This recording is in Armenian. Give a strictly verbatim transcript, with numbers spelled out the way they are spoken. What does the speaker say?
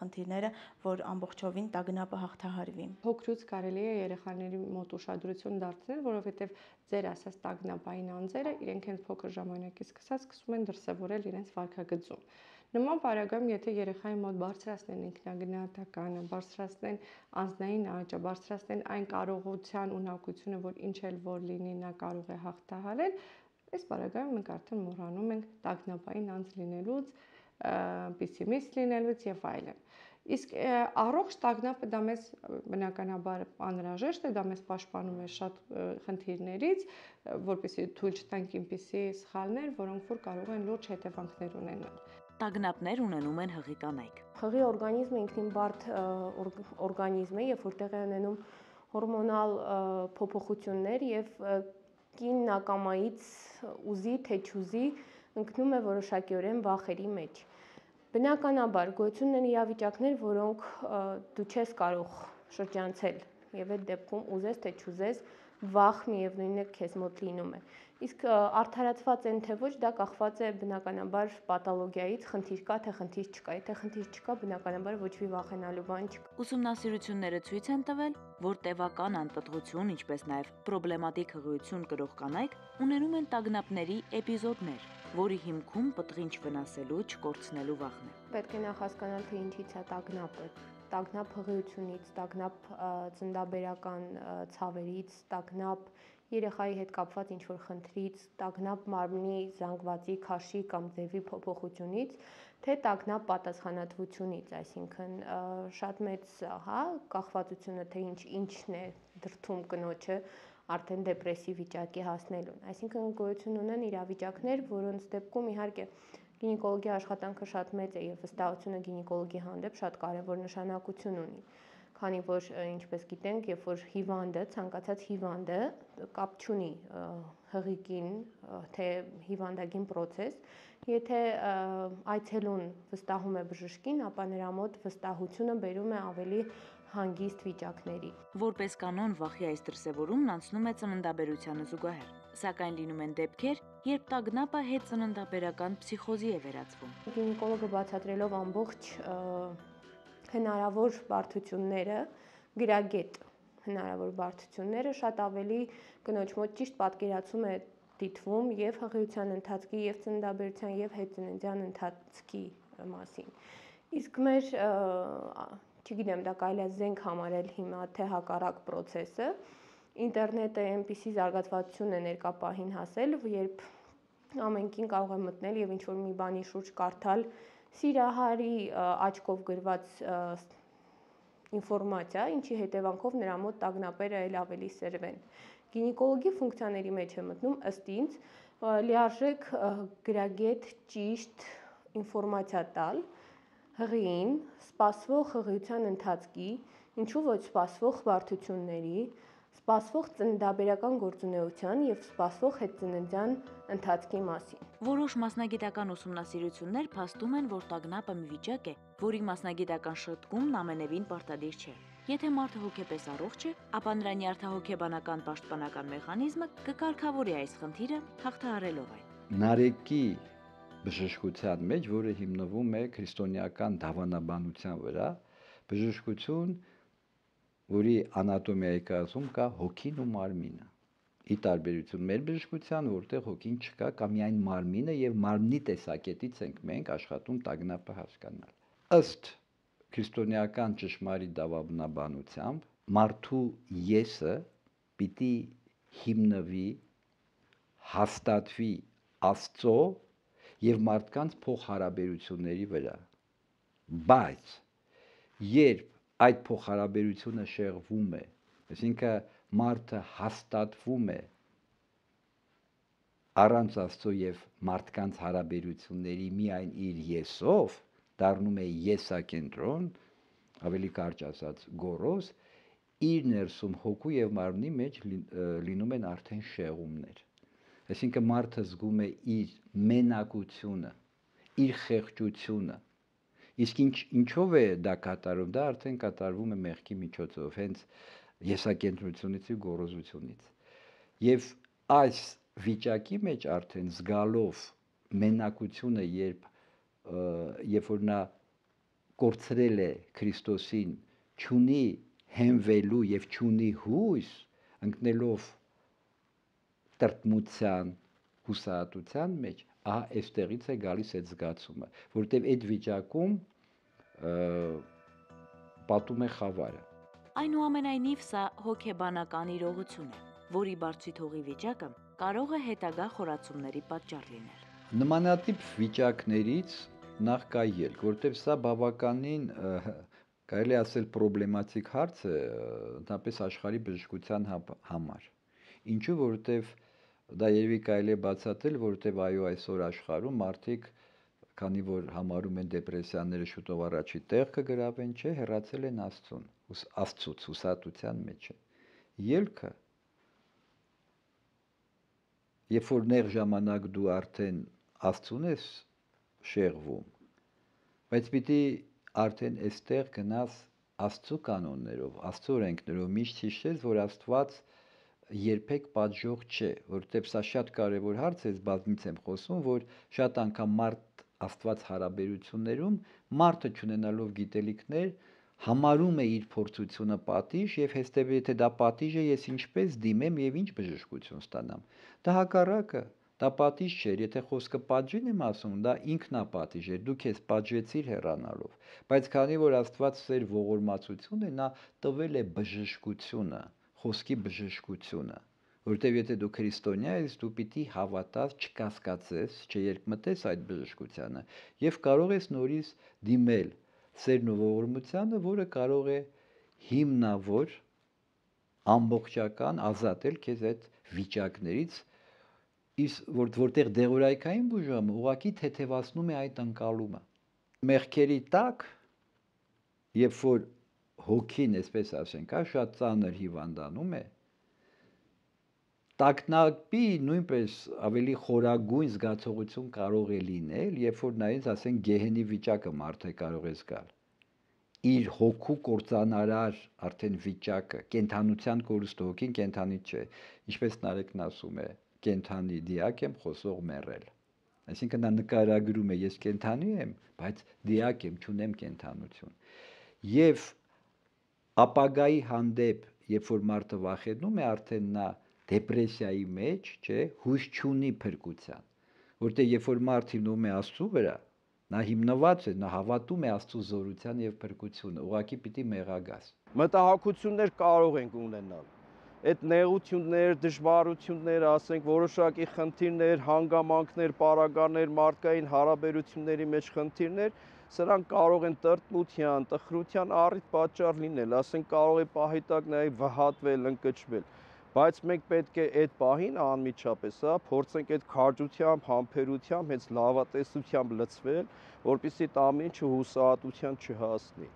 խնդիրները, որ ամբողջովին տագնապը հաղթահարվի։ Փոքրուց կարելի է երեխաների մոտ ուշադրություն դարձնել, որովհետև ձեր ասած տագնապային անձերը իրենք հենց փոքր ժամանակից սկսած սկսում են դրսևորել իրենց վարքագծում։ Նման պարագայում, եթե երեխայի մոտ բարձրացնեն ինքնագնահատականը, բարձրացնեն անձնային աճը, բարձրացնեն այն կարողության ունակությունը, որ ինչ էլ որ լինի, նա կարող է հաղթահարել, այս պարագայում մենք արդեն մոռանում ենք տագնապային անձ լինելուց, պեսիմիստ լինելուց եւ այլն։ Իսկ առողջ տագնապը դա մեզ բնականաբար անհրաժեշտ է, դա մեզ պաշտպանում է շատ խնդիրներից, որպեսզի թույլ չտանք այնպիսի սխալներ, որոնք որ կարող են լուրջ հետևանքներ ունենալ։ Տագնապներ ունենում են հղի կանայք։ Հղի օրգանիզմը ինքնին բարդ օրգանիզմ է, երբ որ տեղի ունենում հորմոնալ փոփոխություններ եւ կին նակամայից ուզի թե չուզի ընկնում է որոշակիորեն վախերի մեջ։ Բնականաբար գոյություն ունեն իրավիճակներ, որոնք դու չես կարող շրջանցել եւ այդ դեպքում ուզես թե չուզես վախ միևնույնն է քեզ մոտ լինում է։ Իսկ արդարացված են թե ոչ, դա կախված է բնականաբար պաթոլոգիայից, խնդիր կա թե խնդիր չկա։ Եթե խնդիր չկա, բնականաբար ոչ մի վախենալու բան չկա։ Ուսումնասիրությունները ցույց են տվել, որ տևական անպտղություն, ինչպես նաև պրոբլեմատիկ հղիություն կրող կանայք ունենում են տագնապների էպիզոդներ, որի հիմքում պտղին չվնասելու, չկորցնելու վախն է։ Պետք է նախ հասկանալ, թե ինչից է տագնապը։ Տագնապ հղիությունից, տագնապ ծննդաբերական ցավերից, տագնապ երեխայի հետ կապված ինչ-որ խնդրից, տագնապ մարմնի զանգվածի, քաշի կամ ձևի փոփոխությունից, թե տագնապ պատասխանատվությունից, այսինքն շատ մեծ, հա, կախվածությունը, թե ինչ ինչն է դրդում կնոջը արդեն դեպրեսիվ վիճակի հասնելուն։ Այսինքն գոյություն ունեն իրավիճակներ, որոնց դեպքում իհարկե գինեկոլոգի աշխատանքը շատ մեծ է եւ վստահությունը գինեկոլոգի հանդեպ շատ կարեւոր նշանակություն ունի, քանի որ ինչպես գիտենք, երբ որ հիվանդը, ցանկացած հիվանդը կապ չունի հղիկին, թե հիվանդագին process, եթե այցելուն վստահում է բժշկին, ապա նրա մոտ վստահությունը բերում է ավելի հանգիստ վիճակների։ Որպես կանոն վախի այս դրսևորումն անցնում է ծննդաբերությանը զուգահեռ, սակայն լինում են դեպքեր, երբ տագնապը հետծննդաբերական փսիխոզի է վերածվում։ Գինեկոլոգը բացատրելով ամբողջ հնարավոր բարդությունները, գրագետ հնարավոր բարդությունները շատ ավելի կնոջ մոտ ճիշտ պատկերացում է դիտվում եւ հղիության ընթացքի եւ ծննդաբերության եւ հետծննդյան ընթացքի մասին։ Իսկ մեր, չգիտեմ, դա կարելի է զենք համարել հիմա թե հակառակ process-ը, ինտերնետը այնպիսի զարգացվածություն է ներկա պահին հասել, երբ ամենքին կարող է մտնել եւ ինչ-որ մի բանի շուրջ կարդալ սիրահարի աչքով գրված ինֆորմացիա, ինչի հետևանքով նրա մոտ տագնապերը էլ ավելի սրվեն։ Գինեկոլոգի ֆունկցիաների մեջ է մտնում ըստ ինձ լիարժեք գրագետ ճիշտ ինֆորմացիա տալ հղիին, սպասվող հղիության ընթացքի, ինչու ոչ սպասվող բարդությունների, սպասվող ծննդաբերական գործունեության եւ սպասվող հետծննդյան ընթացքի մասին։ Որոշ մասնագիտական ուսումնասիրություններ փաստում են, որ տագնապը մի վիճակ է, որի մասնագիտական շտկումն ամենևին պարտադիր չէ։ Եթե մարդը հոգեպես առողջ է, ապա նրա նյարդահոգեբանական պաշտպանական մեխանիզմը կկարգավորի այս խնդիրը հաղթահարելով այն։ Նարեկի բժշկության մեջ, որը հիմնվում է քրիստոնեական դավանաբանության վրա, բժշկություն, որի անատոմիայի կազմում կա հոգին ու մարմինը։ Ի տարբերություն մեր բժշկության, որտեղ հոգին չկա, կա միայն մարմինը եւ մարմնի տեսակետից ենք մենք աշխատում տագնապը հասկանալ։ Ըստ քրիստոնեական ճշմարիտ դավանաբանությամբ մարդու եսը պիտի հիմնվի, հաստատվի Աստծո եւ մարդկանց փոխհարաբերությունների վրա։ Բայց երբ այդ փոխհարաբերությունը շեղվում է, այսինքն մարդը հաստատվում է առանց Աստծո եւ մարդկանց հարաբերությունների միայն իր եսով, դառնում է եսակենտրոն, ավելի կարճ ասած գոռոզ, իր ներսում հոգու եւ մարմնի մեջ լինում են արդեն շեղումներ։ Այսինքն մարդը զգում է իր մենակությունը, իր խեղճությունը։ Իսկ ինչ ինչով է դա կատարվում, դա արդեն կատարվում է մեղքի միջոցով, հենց եսակենտրոնությունից ու գոռոզությունից։ Եվ այս վիճակի մեջ արդեն զգալով մենակությունը, երբ երբ որ նա կորցրել է Քրիստոսին, չունի հենվելու եւ չունի հույս, ընկնելով տրտմության, հուսահատության մեջ, ահա այստեղից է գալիս այդ զգացումը, որտեղ այդ վիճակում պատում է խավարը։ Այնուամենայնիվ սա հոգեբանական իրողություն է, որի բարձրի վիճակը կարող է հետագա խորացումների պատճառ լինել։ Նմանատիպ վիճակներից նախ կա ելք, որտեղ սա բավականին կարելի ասել պրոբլեմատիկ հարց է ընդհանրապես աշխարհի բժշկության համար։ Ինչու, որովհետև դա երևի կարելի է բացատրել, որովհետև այո այսօր աշխարհում մարդիկ, քանի որ համարում են դեպրեսիաները շուտով առաջի տեղ կգրավեն, չէ, հեռացել են Աստծուն, Աստծուց, հուսահատության մեջ է։ Ելքը, երբ որ նեղ ժամանակ դու արդեն Աստծուն ես շեղվում, բայց պիտի արդեն այստեղ գնաս Աստծու կանոններով, Աստծու օրենքներով, միշտ հիշես, որ Աստված երբեք պատժող չէ, որովհետև սա շատ կարևոր հարց է, ես բազմից եմ խոսում, որ շատ անգամ մարդ Աստված հարաբերություններում մարդը չունենալով գիտելիքներ համարում է իր փորձությունը պատիժ եւ հեստեւ եթե դա պատիժ է, ես ինչպես դիմեմ եւ ինչ բժշկություն ստանամ։ Դա հակառակը, դա պատիժ չէ, եթե խոսքը պատժին եմ ասում, դա ինքնապատիժ է, դու քեզ պատժեցիր հեռանալով, բայց քանի որ Աստված ծեր ողորմածություն է, նա տվել է բժշկությունը, խոսքի բժշկությունը, որտեւ եթե դու քրիստոնյա ես, դու պիտի հավատաս, չկասկածես, չերկմտես այդ բժշկությանը եւ կարող ես նորից դիմել սերն ու ողորմությանը, որը կարող է հիմնավոր ամբողջական ազատել քեզ այդ վիճակներից, իսկ որ որտեղ դեղորայքային բուժումը ուղղակի թեթևացնում է այդ ընկալումը։ Մեղքերի տակ, երբ որ հոգին, այսպես ասենք, հա, շատ ծանր հիվանդանում է, տագնապի նույնպես ավելի խորագույն զգացողություն կարող է լինել, երբ որ նայես, ասենք, գեհենի վիճակը մարդը կարող է զգալ։ Իր հոգու կործանարար արդեն վիճակը, կենթանության կորուստը, հոգին կենթանի չէ, ինչպես Նարեկն ասում է, կենթանի դիակ եմ, խոսող մեռել։ Այսինքն նա նկարագրում է, ես կենթանի եմ, բայց դիակ եմ, չունեմ կենթանություն։ Եվ ապագայի հանդեպ, երբ որ մարդը վախենում է, արդեն նա դեպրեսիայի մեջ, չէ, հույս չունի փրկության, որտեղ երբ որ մարդ հիմնում է Աստծու վրա, նա հիմնված է, նա հավատում է Աստծու զորության եւ փրկությունը, ուղղակի պիտի մեղագաս։ Մտահոգություններ կարող ենք ունենալ։ Այդ նեղություններ, դժվարություններ, ասենք, որոշակի խնդիրներ, հանգամանքներ, պարագաներ, մարդկային հարաբերությունների մեջ խնդիրներ, սրանք կարող են տրտմության, տխրության առիթ պատճառ լինել, ասենք, կարող է պահի տակ նաեւ վհատվել, ընկճվել, բայց մենք պետք է այդ պահին անմիջապես, հա, փորձենք այդ քաջությամբ, համբերությամբ, հենց լավատեսությամբ լցվել, որպեսզի այդ ամեն ինչը հուսահատության չհասնի։